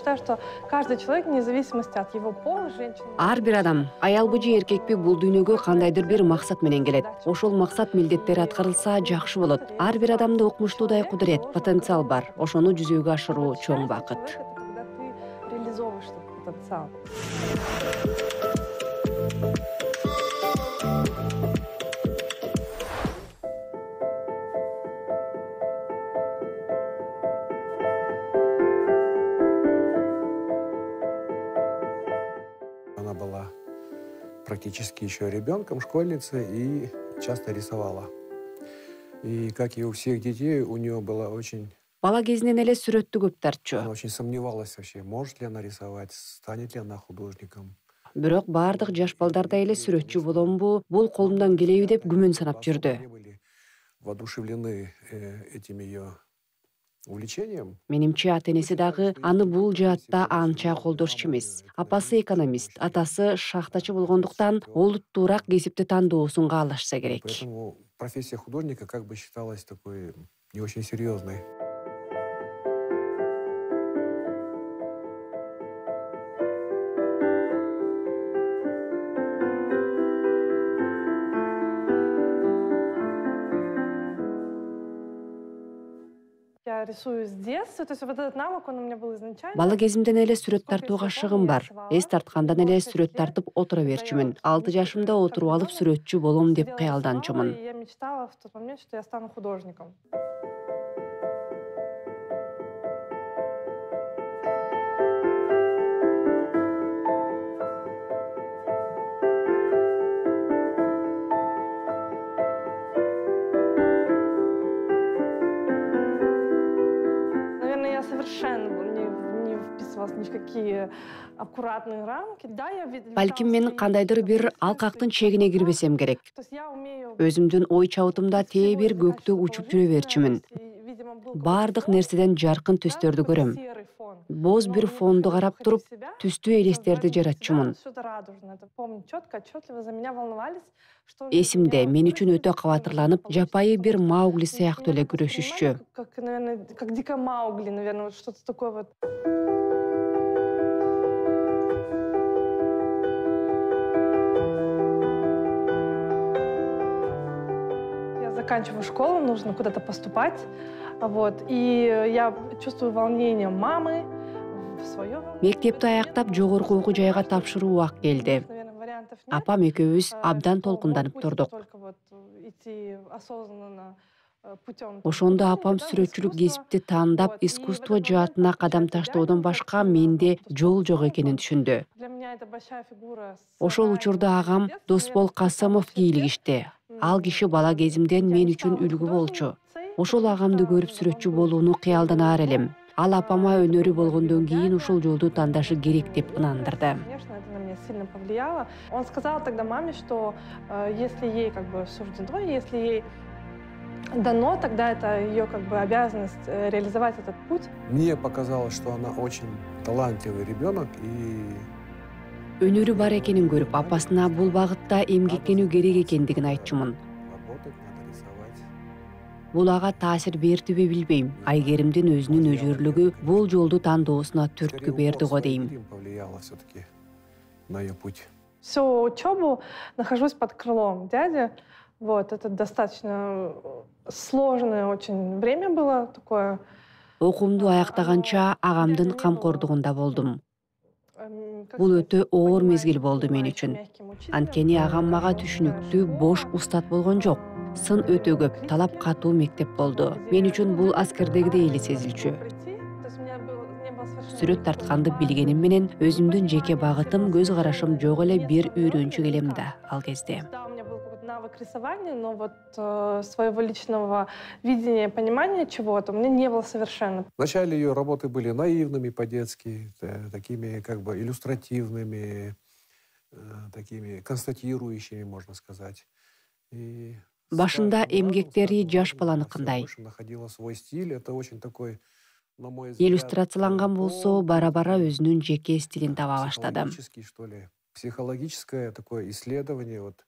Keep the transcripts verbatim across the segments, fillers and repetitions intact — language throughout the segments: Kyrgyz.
считаю, что каждый человек, вне зависимости от его пола, женщина... Ар бир адам, аялбы же эркекпи, бул дүйнөгө кандайдыр бир максат менен келет. Ошол максат милдеттери аткарылса жакшы болот. Ар бир адамда укмуштуудай кудурет, потенциал бар. Ошону жүзөгө ашыруу чоң бакыт. Когда ты реализовываешь этот потенциал. Она была практически еще ребенком, школьницей, и часто рисовала. И, как и у всех детей, у нее была очень... Бала кезинен эле сүрөттү көп тартчу. Она очень сомневалась вообще, может ли она рисовать, станет ли она художником. Бирок бардык жаш балдардай эле сүрөтчү боломбу, бул колумдан келеби деп күмөн санап жүрдү. Они были воодушевлены этим ее увлечением. Менимче ата-энеси дагы аны бул жаатта анча колдошчу эмес. Апасы экономист, атасы шахтачы болгондуктан олуттуураак кесипти тандоосун каалашса керек. Поэтому профессия художника как бы считалась такой не очень серьезной. Я рисую с детства, то есть вот этот навык, он у меня был изначально. Бала кезимден эле сүрөт тартууга шыгым бар. Эс тарткандан эле сүрөт тартып отура берчүмүн. алты жашымда отуруп алып сүрөтчү болом деп кыялданчумун. Я мечтала в тот момент, что я стану художником. Я совершенно не, не вписывалась ни в какие аккуратные рамки. Да, я видела... Балким мен кандайдыр бир алкактын чегине кирбесем керек. То есть я умею... Өзүмдүн ой чабытымда тээ бир көктө учуп жүрө берчүмүн. Бардык нерседен жаркын түстөрдү көрөм. Боз бир фонду карап туруп, түстүү элестерди жаратчумун. Эсимде, мен үчүн өтө кабатырланып, жапайы бир Маугли сыяктуу эле күрөшүшчү. Как, наверное, как дикая Маугли, наверное, вот что-то такое вот. Я заканчиваю школу, нужно куда-то поступать, вот, и я чувствую волнение мамы в своё. Мектепти аяктап, жогорку окуу жайга тапшыруу убак келди. Апам экөөбүз абдан толкунданып турдук. Ошондо апам сүрөтчүлүк кесипти тандап, искусство жаатына кадам таштоодон башка менде жол жок экенин түшүндү. Ошол учурда агам Досбол Касымов кийлигишти. Ал киши бала кезимден мен үчүн үлгү болчу. Ошол агамды көрүп сүрөтчү болууну кыялданаар элем. Ал апама өнөрү болгондон кийин ушул жолду тандашы керек деп ынандырды. Сильно повлияло. Он сказал тогда маме, что э, если ей как бы суждено, если ей дано, тогда это ее как бы обязанность э, реализовать этот путь. Мне показалось, что она очень талантливый ребенок и өнөрү бар экенин көрүп, апасына бул багытта эмгектенүү керек экендигин айтчумун. Бул ага таасир бердиби билбейм. Айгеримдин өзүнүн өжөрлүгү бул жолду тандоосуна түрткү берди го дейм. На ее путь. Всю учебу нахожусь под крылом дяди. Вот, это достаточно сложное очень время было такое. Окуумду аяктаганча агамдын камкордугунда болдум. Бул өтө оор мезгил болду мен үчүн. Анткени агам мага түшүнүктүү, бош устат болгон жок. Сын өтө көп, талап катуу мектеп болду. Мен үчүн бул аскердегидей эле сезилчү. Сүрөт тартканды билгеним менен өзүмдүн жеке багытым, көз карашым жок эле бир үйрөнчүк элем да ал кезде. У меня был навык рисования, но вот э, своего личного видения, понимания чего-то у меня не было совершенно. Вначале ее работы были наивными по-детски, такими как бы иллюстративными, э, такими констатирующими, можно сказать. И башында эмгектери жаш баланыкындай. Находила свой стиль, это очень такой... Иллюстрацияланган болсо, бара-бара өзүнүн жеке стилин таба баштады. Что ли, психологическое такое исследование вот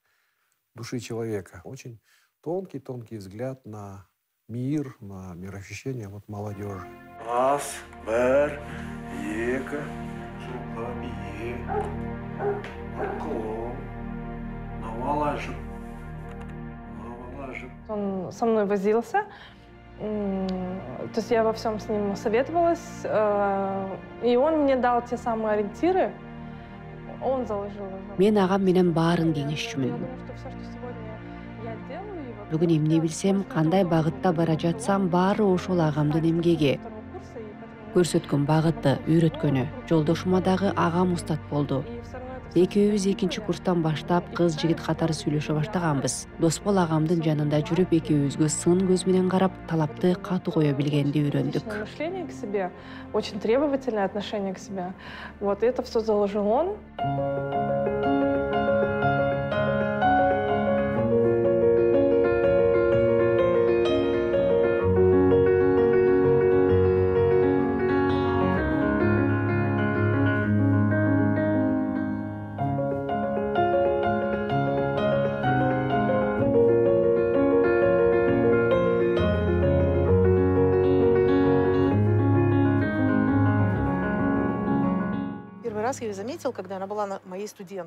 души человека. Очень тонкий-тонкий взгляд на мир, на мироощущение вот молодежи. Раз, бер, Века, шурупка бие, наклон, навалажив, навалажив. Он со мной возился, то есть я во всем с ним советовалась, и он мне дал те самые ориентиры, он заложил. Мен агам менен баарын кеңешчүмүн. Бүгүн эмне билсем, кандай багытта бара жатсам, баары ошол агамдын эмгеги. Көрсөткөн багыты, үйрөткөнү. Жолдошума дагы агам устат болду. Экөөбүз экинчи курстан баштап кыз жигит катары сүйлөшө баштаганбыз. Досбол агамдын жанында жүрүп, экөөбүзгө сын көз менен карап, талапты катуу кое билгенди үйрөндүк. Мышление к себе, очень требовательное отношение к себе. Вот это все заложил он.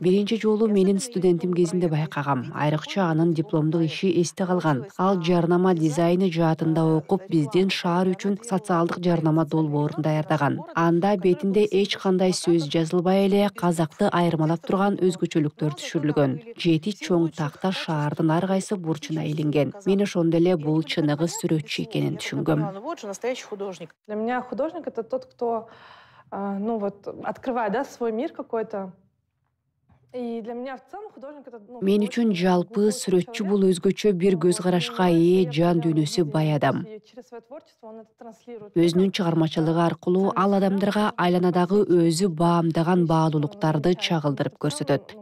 Биринчи жолу менин студентим кезинде байкагам. Айрыкча анын дипломдук иши эсте калган. Ал жарнама дизайны жаатында окуп, биздин шаар үчүн социалдык жарнама долбоорун даярдаган. Анда бетинде эч кандай сөз жазылбай эле казакты айырмалап турган өзгөчөлүктөр түшүрүлгөн. Жети чоң такта шаардын ар кайсы бурчуна илинген. Мен ошондо эле бул чыныгы сүрөтчү экенин түшүнгөм. Для меня художник — это тот, кто ну вот открывает, да, свой мир какой-то. И для меня в целом художник — это, ну, мен үчүн жалпы сүрөтчү бул өзгөчө бир көз карашка ээ, жан дүйнөсү бай адам. Өзүнүн чыгармачылыгы аркылуу ал адамдарга айланадагы өзү баамдаган баалуулуктарды чагылдырып көрсөтөт.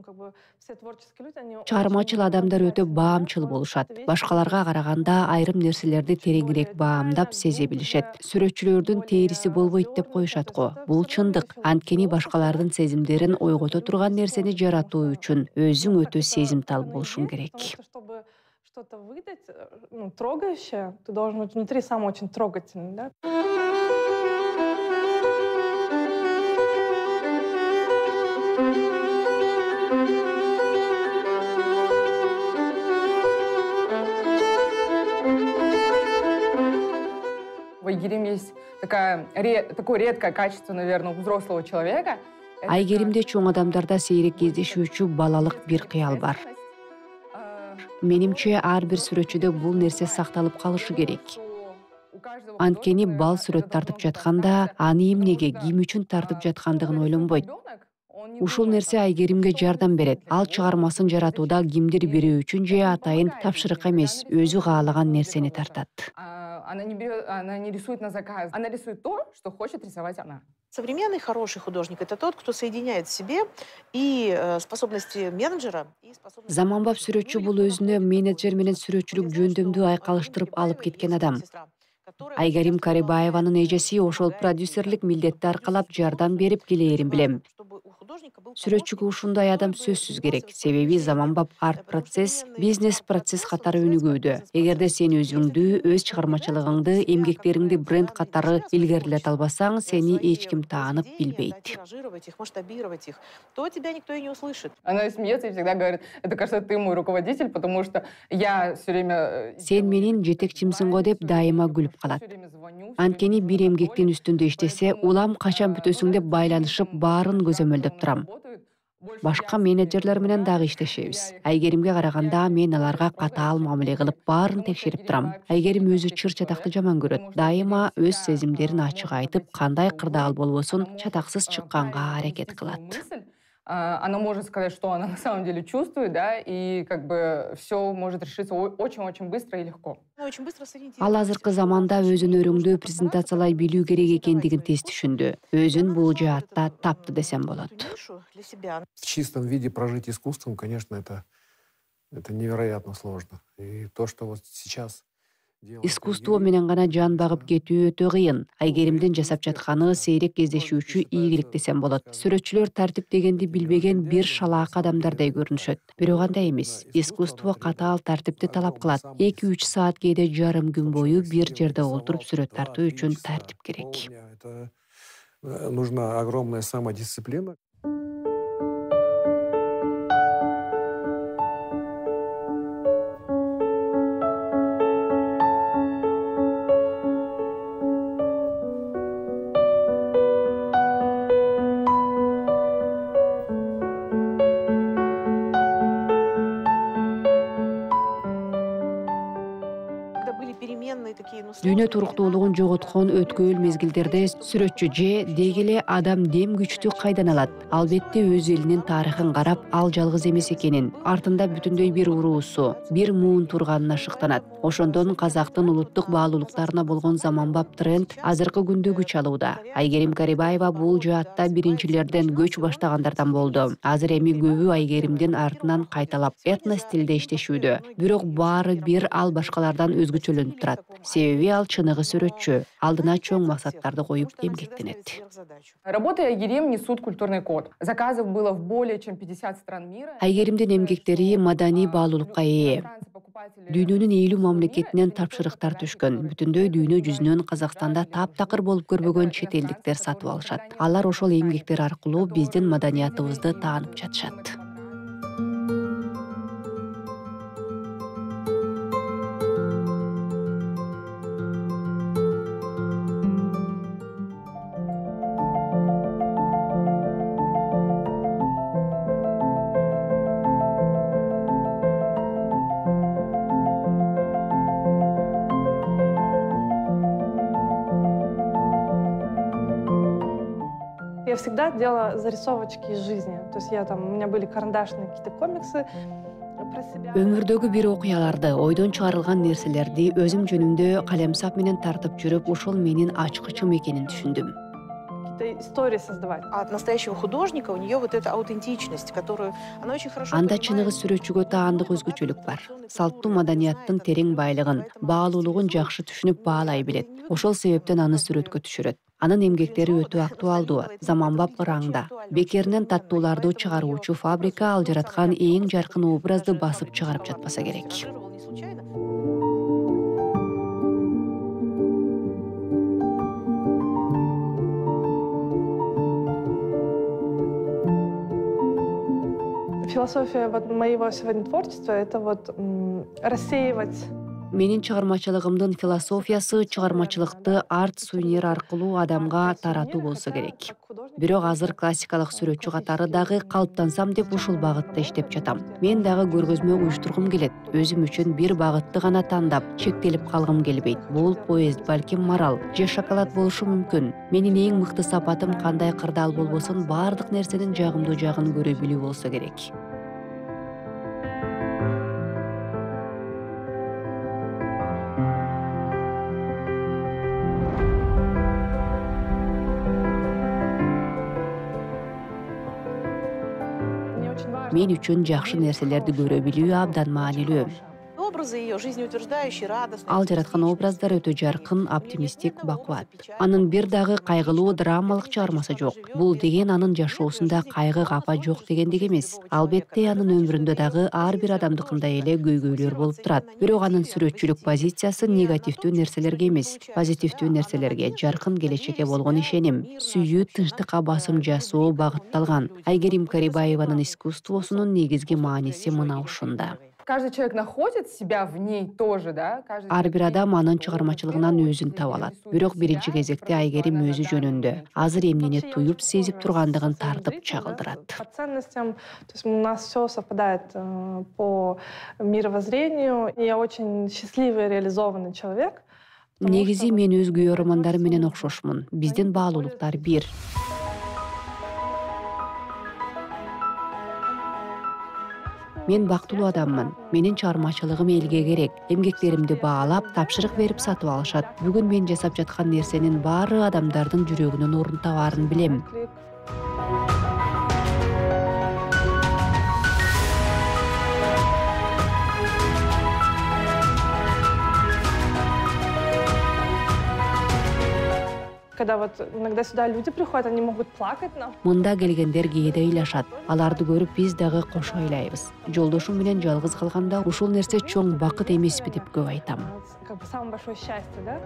Чыгармачыл адамдар өтө баамчыл болушат. Башкаларга караганда айрым нерселерди тереңирээк баамдап сезе билишет. Сүрөтчүлөрдүн териси болбойт деп коюшат го. Бул чындык. Анткени башкалардын сезимдерин ойгото турган нерсени жаратуу үчүн өзүң өтө сезимтал болушуң керек. Что-то выдать, ну, трогающее, ты должен быть внутри сам очень трогательный, да? В Айгерим есть такая, такое редкое качество, наверное, у взрослого человека. Айгеримде чоң адамдарда сейрек кездешүүчү балалык бир кыял бар. Менимче ар бир сүрөтчүдө бул нерсе сакталып калышы керек. Анткени бал сүрөт тартып жатканда, аны эмнеге, ким үчүн тартып жаткандыгын ойлонбойт. Ушул нерсе Айгеримге жардам берет. Ал чыгармасын жаратууда кимдир бирөө үчүн же атайын тапшырык эмес, өзү каалаган нерсени тартат. Она не берет, она не рисует на заказ. Она рисует то, что хочет рисовать она. Современный хороший художник — это тот, кто соединяет в себе и способности менеджера, и способности... Заманбап сүрөтчү бул өзүнө менеджер менен сүрөтчүлүк жөндөмдү айкалыштырып алып кеткен адам. Айгерим Карибаеванын эжеси ошол продюсерлик милдетти аркалап жардам берип келээрин билем. Сүрөтчүгө ушундай адам сөзсүз керек. Себеби заманбап арт процесс, бизнес процесс катары өнүгүүдө. Эгерде сен өзүңдү, өз чыгармачылыгыңды, эмгектериңди бренд катары илгерилете албасаң, сени эч ким таанып билбейт. То тебя никто и не услышит. Она смеется и всегда говорит: это, кажется, ты мой руководитель, потому что я все время... Сен менин жетекчимсиң го деп дайыма күлүп калат. Анткени бир эмгектин үстүндө иштесе, улам качан бүтөсүң деп байланышып, баарын көзөмөлдөп турам. Башка менеджерлер менен дагы иштешебиз. Айгеримге караганда мен аларга катаал мамиле кылып, баарын текшерип турам. Айгерим өзү чыр чатакты жаман көрөт. Дайыма өз сезимдерин ачык айтып, кандай кырдаал болбосун чатаксыз чыкканга аракет кылат. Она может сказать, что она на самом деле чувствует, да, и как бы все может решиться очень-очень быстро и легко. Ал азыркы заманда өзүн өрүңдүү презентациялай билүү керек экендигин тез түшүндү. Өзүн бул жаатта тапты десем болот. В чистом виде прожить искусством, конечно, это, это невероятно сложно. И то, что вот сейчас... Искусство менен гана жан багып кетүү өтө кыйын. Айгеримдин жасап жатканы сейрек кездешүүчү ийгилик десем болот. Сүрөтчүлөр тартиптегенди билбеген бир шалаак адамдардай көрүнүшөт. Бирок андай эмес. Искусство катаал тартипти талап кылат. эки үч саат, кээде жарым күн бою бир жерде олтуруп сүрөт тартуу үчүн тартип керек. нужна огромная самодисциплина. Дүйнө туруктуулугун жоготкон өткөөл мезгилдерде сүрөтчү же деги эле адам дем күчтү кайдан алат? Албетте өз элинин тарыхын карап, ал жалгыз эмес экенин, артында бүтүндөй бир уруусу, бир муун турганына шыктанат. Ошондон казактын улуттук баалуулуктарына болгон заманбап тренд азыркы күндө күч алууда. Айгерим Карибаева бул жаатта биринчилерден көч баштагандардан болду. Азыр эми көбү Айгеримдин артынан кайталап этно стилде иштешүүдө. Бирок баары бир, ал башкалардан өзгөчөлөнүп турат. Себеби ал чыныгы сүрөтчү, алдына чоң максаттарды коюп эмгектенет. Работы Айгерим несут культурный код. Заказов было в более чем пятьдесят стран мира. Айгеримдин эмгектери маданий баалуулукка ээ. Дүйнөнүн элүү мамлекетинен тапшырыктар түшкөн. Бүтүндөй дүйнө жүзүнөн Казакстанда таптакыр болуп көрбөгөн чет элдиктер сатып алышат. Алар ошол эмгектер аркылуу биздин маданиятыбызды таанып жатышат. Я всегда делала зарисовочки из жизни. То есть я там, у меня были карандашные какие-то комиксы про себя. Өмүрдөгү бир окуяларды, ойдон чыгарылган нерселерди өзүм жөнүндө калемсап менен тартып жүрүп, ошол менин ачкычым экенин түшүндүм. Какие-то истории создавать. А от настоящего художника у нее вот эта аутентичность, которую она очень хорошо Анда понимает. чыныгы сүрөтчүгө таандык өзгөчөлүк бар. Салттуу маданияттын терең байлыгын, баалуулугун жакшы түшүнүп баалай билет. Ошол себептен аны сүрөткө түшүрөт. Анын эмгектери өтө актуалдуу, заманбап ыраңда. Бекеринен таттууларды чыгаруучу фабрика ал жараткан эң жаркын образды басып чыгарып жатпаса керек. Философия вот моего сегодня творчества — это вот м, рассеивать. Менин чыгармачылыгымдын философиясы чыгармачылыкты арт сувенир аркылуу адамга таратуу болсо керек. Бирок азыр классикалык сүрөтчү катары дагы калыптансам деп ушул багытта иштеп жатам. Мен дагы көргөзмө уюштургум келет. Өзүм үчүн бир багытты гана тандап, чектелип калгым келбейт. Бул поезд, балким марал же шоколад болушу мүмкүн. Менин эң мыкты сапатым кандай кырдаал болбосун баардык нерсенин жагымдуу жагын көрө билүү болсо керек. Мен үчүн жакшы нерселерди көрө билүү абдан маанилүү. Образы ее жизнеутверждающие, радостные. Ал жараткан образдар өтө жаркын, оптимисттик, бакуат. Анын бир дагы кайгылуу, драмалык чыгармасы жок. Бул деген анын жашоосунда кайгы, капа жок дегендик эмес. Албетте анын өмүрүндө дагы ар бир адамдыкындай эле көйгөйлөр болуп турат. Бирок анын сүрөтчүлүк позициясы негативдүү нерселерге эмес, позитивдүү нерселерге, жаркын келечекке болгон ишеним, сүйүү, тынчтыкка басым жасоо багытталган. Айгерим Карибаеванын искусствосунун негизги мааниси мына ушунда. Каждый человек находит себя в ней тоже, да? Каждый Ар человек бир адам анын чыгармачылыгынан өзүн таба алат. Бирок биринчи кезекте Айгерим өзү жөнүндө азыр эмнени туюп сезип тургандыгын тартып чагылдырат. По ценностям, то есть у нас все совпадает э, по мировоззрению. И я очень счастливый, реализованный человек. потому Негизи что мен өз күйөө романдарым менен окшошмун. Биздин баалуулуктар бир. Мен бактылуу адаммын. Менин чыгармачылыгым элге керек. Эмгектеримди баалап, тапшырык берип сатып алышат. Бүгүн мен жасап жаткан нерсенин баары адамдардын жүрөгүнүн орун табаарын билем. клик. Когда вот иногда сюда люди приходят, они могут плакать нам. Мында келгендер кээде ыйлашат. Аларды көрүп биз дагы кошо ыйлайбыз. Жолдошум менен жалгыз калганда ушул нерсе чоң бакыт эмеспи деп көп айтам. Вот, как бы самое большое счастье, да?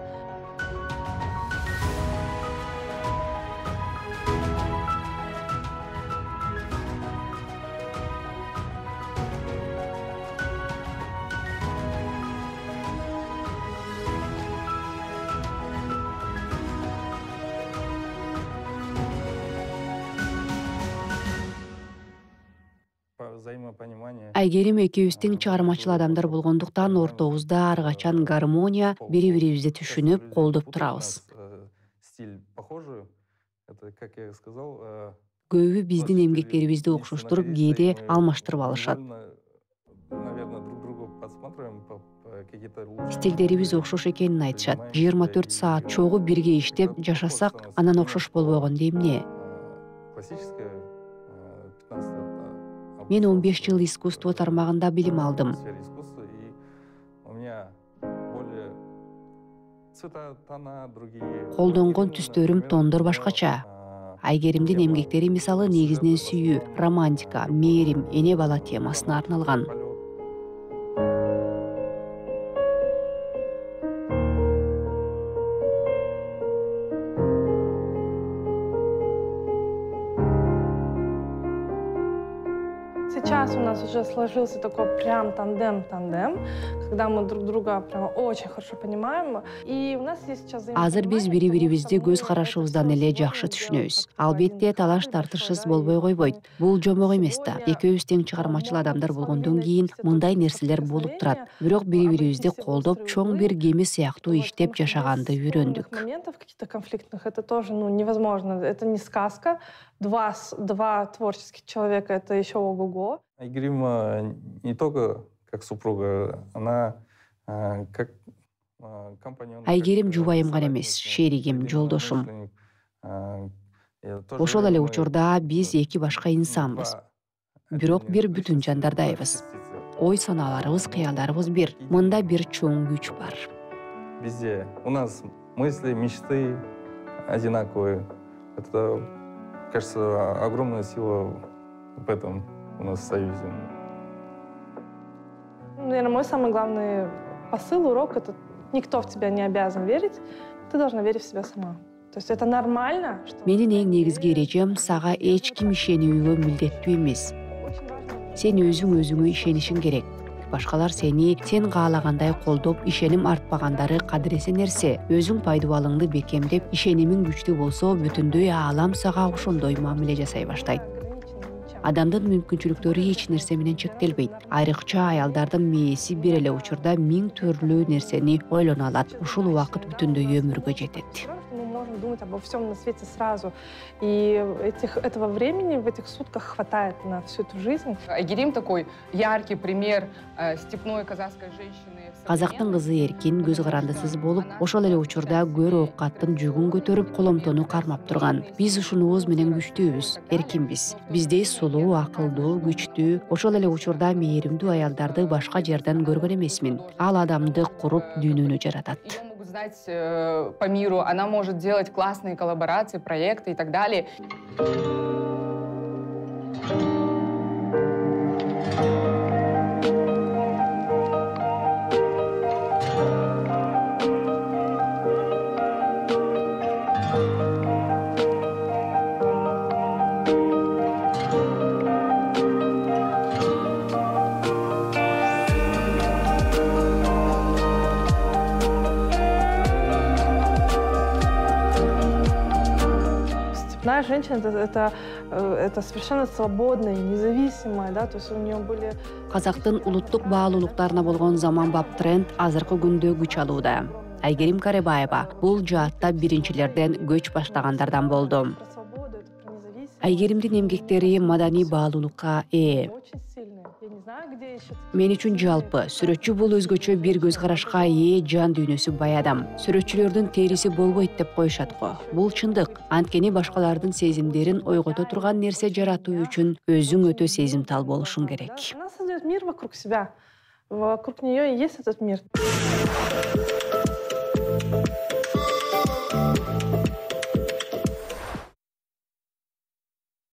Айгерим экөөбүздүн чыгармачыл адамдар болгондуктан ортобузда ар качан гармония, бири-бирибизди түшүнүп, колдоп турабыз. Көбү биздин эмгектерибизди окшоштуруп, кээде алмаштырып алышат. Стилдерибиз окшош экенин айтышат. жыйырма төрт саат чогуу бирге иштеп жашасак, анан окшош болбогонду эмне? Мен он беш жыл искусство тармагында билим алдым. Колдонгон түстөрүм, тондор башкача. Айгеримдин эмгектери мисалы негизинен сүйүү, романтика, мээрим, эне бала темасына арналган. Сейчас у нас уже сложился такой прям тандем-тандем, когда мы друг друга прям очень хорошо понимаем. И у нас есть сейчас Азыр биз бири-бирибизди көз карашыбыздан эле жакшы түшүнөбүз. Албетте талаш тартышыбыз болбой койбойт. Бул жомок эмес да. Экөөбүз тең чыгармачыл адамдар болгондон кийин мындай нерселер болуп турат. Бирок бири-бирибизди колдоп, чоң бир кеми сыяктуу иштеп жашаганды үйрөндүк. Моментов каких-то конфликтных это тоже ну, невозможно. Это не сказка. Два, два творческих человека, это еще ого-го. Айгерим не только как супруга, она как компаньон. Айгерим жубайым гана эмес, шеригим, жолдошум. Ошол эле учурда биз эки башка инсанбыз. Бирок бир бүтүн жандардайбыз. Ой санааларыбыз, кыялдарыбыз бир. Мында бир чоң күч бар. Везде. У нас мысли, мечты одинаковые. Это, кажется, огромная сила в этом у нас в союзе. Наверное, мой самый главный посыл, урок — это никто в тебя не обязан верить, ты должна верить в себя сама. То есть это нормально, что... Менин эң негизги эрежем сага эч ким ишенүүгө милдеттүү эмес. Сен өзүң өзүңө ишенишиң керек. Башкалар сени сен каалагандай колдоп, ишеним артпагандары кадыресе нерсе. Өзүң пайдубалыңды бекемдеп, ишенимиң күчтүү болсо, бүтүндөй аалам сага ошондой мамиле жасай баштайт. Адамдын мүмкүнчүлүктөрү эч нерсе менен чектелбейт. Айрыкча аялдардын мээси бир эле учурда миң түрлүү нерсени ойлоно алат. Ушул убакыт бүтүндөй өмүргө жетет. Мы можем думать обо всем на свете сразу. И этих, этого времени в этих сутках хватает на всю эту жизнь. Айгерим такой яркий пример э, степной казахской женщины. Казактын кызы эркин, көз карандысыз болуп, ошол эле учурда көр оокаттын жүгүн көтөрүп, коломтону кармап турган. Биз ушунубуз менен күчтүүбүз, эркинбиз. Биздей сулуу, акылдуу, күчтүү, ошол эле учурда мээримдүү аялдарды башка жерден көргөн эмесмин. Ал адамды куруп, дүйнөнү жаратат. Знать э, по миру, она может делать классные коллаборации, проекты и так далее. Одна женщина это, это, это совершенно свободная, независимая, да, то есть у нее были... Казактын улуттук баалуулуктарына болгон заманбап тренд азыркы күндө күч алууда. Айгерим Карабаева бул жаатта биринчилерден көч баштагандардан болду. Айгеримдин эмгектери маданий баалуулукка ээ. Мен үчүн жалпы сүрөтчү бул өзгөчө бир көз карашка ээ жан дүйнөсү бай адам. Сүрөтчүлөрдүн териси болбойт деп коюшат го. Бул чындык. Анткени башкалардын сезимдерин ойгото турган нерсе жаратуу үчүн өзүң өтө сезимтал болушуң керек. Она создает мир вокруг себя. Вокруг нее и есть этот мир.